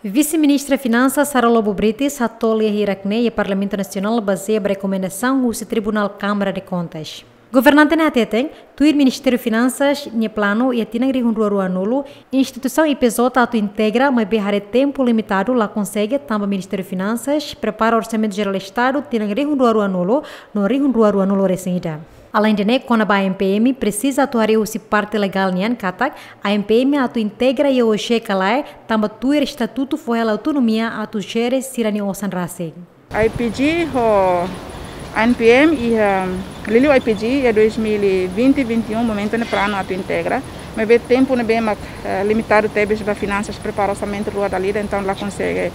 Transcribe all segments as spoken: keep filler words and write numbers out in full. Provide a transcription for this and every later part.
Vise-Ministra Finansas Sara Lobo Brites hato'o lia hirak-ne'e iha Parlamentu Nasionál bazeia ba rekomendasaun husi Tribunál Kámara de Kontas. Governante ne'e hateten, tuir Ministériu Finansas nia planu iha tinan rihun rua ruanulu, instituisaun I P J atu integra, maibé haree tempu limitadu la konsege tanba Ministériu Finansas prepara Orsamentu Jerál Estadu tinan rihun rua ruanulu no rihun rua ruanulu resin ida. Aleinde ne'e, kona-ba ANPM, presiza atu haree husi parte legál nian katak ANPM atu integra iha O J ka lae, tanba tuir estatutu fó hela autonomia atu jere sira-nia osan rasik. I P G ho ANPM iha, liuliu I P G iha dois mil e vinte, vinte e um momentu ne'e planu atu integra. Maibé tempu ne'ebé mak, eh, limitadu tebes ba finansas prepara orsamentu rua dala ida, entaun la konsege,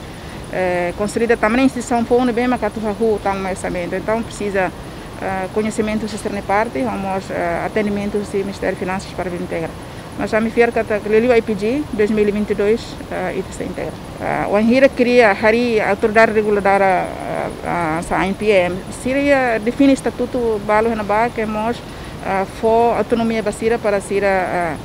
eh, konsolida tanba ne'e instituisaun foun ne'ebé mak atu hahú tama orsamentu. Entaun presiza, eh, koñesimentu husi sira-nia parte, ho mós, eh, atendimentu husi Ministériu Finansas para integra. Mas ami fiar katak liuliu I P G dois mil e vinte e dois, eh, ita sei integra. Ah, wainhira kria harii autoridade reguladora, ah, ah, hanesan ANPM, sira iha define estatutu balu iha ne'ebá ke mós, ah, fó autonomia ba sira para sira, ah,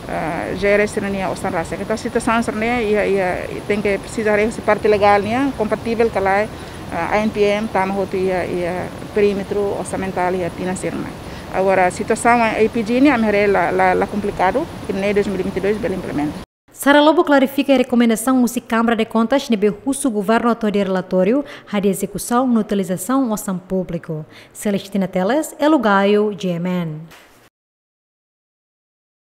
ah, jere sira-nia osan rasik. Entaun situasaun sira-ne'e iha, iha, tenke presiza haree husi parte legál nian, kompativel ka lae, ah, ANPM tama hotu iha, iha perímetru orsamentál iha tinan sira-ne'e. Agora, situasaun I P G ne'e ami haree la, la, la komplikadu, i ne'e dois mil e vinte e dois bele implementa. Sara Lobo klarifika rekomendasaun husi Kámara de Kontas ne'ebé husu governu atu hadi'a relatóriu hodi ezekusaun no utilizasaun osan públiku. Celestina Teles, Elo Gaio, G M N.